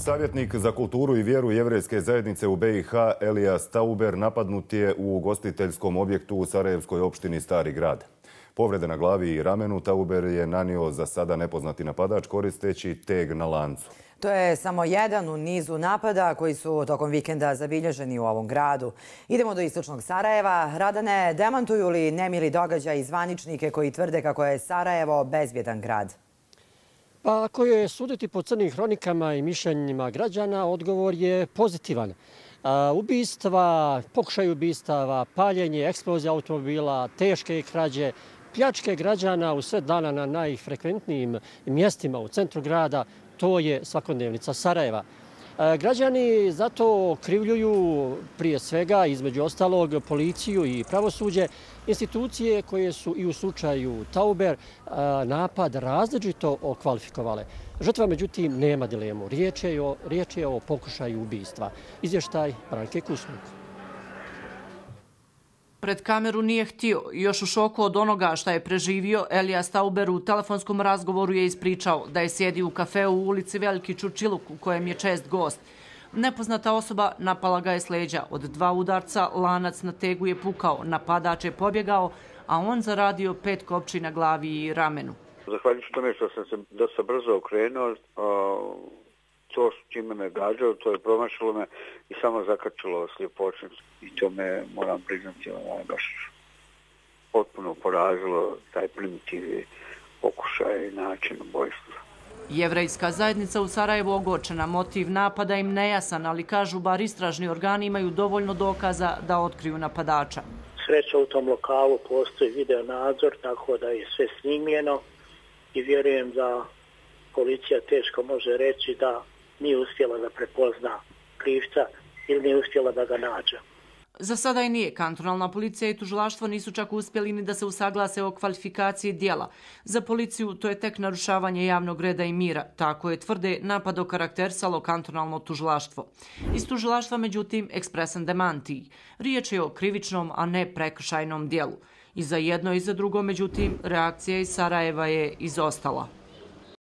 Savjetnik za kulturu i vjeru jevrejske zajednice u BiH Elias Tauber napadnut je u ugostiteljskom objektu u sarajevskoj opštini Stari grad. Povrede na glavi i ramenu Tauber je nanio za sada nepoznati napadač koristeći teg na lancu. To je samo jedan u nizu napada koji su tokom vikenda zabilježeni u ovom gradu. Idemo do istočnog Sarajeva. Radane, demantuju li nemili događaj i zvaničnike koji tvrde kako je Sarajevo bezbjedan grad? Pa ako je suditi po crnim hronikama i mišljenjima građana, odgovor je pozitivan. Ubistva, pokušaj ubistava, paljenje, eksplozija automobila, teške krađe, pljačke građana u sred dana na najfrekventnijim mjestima u centru grada, to je svakodnevnica Sarajeva. Građani zato krivljuju prije svega, između ostalog, policiju i pravosuđe, institucije koje su i u slučaju Tauber napad različito okvalifikovale. Žrtva, međutim, nema dilemu. Riječ je o pokušaju ubistva. Izvještaj Branke Kusmuk. Pred kameru nije htio. Još u šoku od onoga šta je preživio, Elias Tauber u telefonskom razgovoru je ispričao da je sjedio u kafeu u ulici Veliki Čurčiluk u kojem je čest gost. Nepoznata osoba napala ga je s leđa. Od 2 udarca lanac na tegu je pukao, napadač je pobjegao, a on zaradio 5 kopči na glavi i ramenu. Zahvaljujući tome što sam se dosta brzo okrenuo, to čime me gađao, to je promašilo me i samo zakačilo sljepočnicu. I to me, moram priznati, baš potpuno porazilo taj primitivni pokušaj i način ubojstva. Jevrejska zajednica u Sarajevu ogorčena, motiv napada im nejasan, ali kažu bar istražni organi imaju dovoljno dokaza da otkriju napadača. Sreća u tom lokalu postoji video nadzor, tako da je sve snimljeno i vjerujem da policija teško može reći da nije uspjela da prepozna krivca ili nije uspjela da ga nađe. Za sada i nije. Kantonalna policija i tužilaštvo nisu čak uspjeli ni da se usaglase o kvalifikaciji djela. Za policiju to je tek narušavanje javnog reda i mira. Tako je tvrde napad okarakterisalo kantonalno tužilaštvo. Iz tužilaštva, međutim, ekspresan demantij. Riječ je o krivičnom, a ne prekršajnom djelu. I za jedno i za drugo, međutim, reakcija iz Sarajeva je izostala.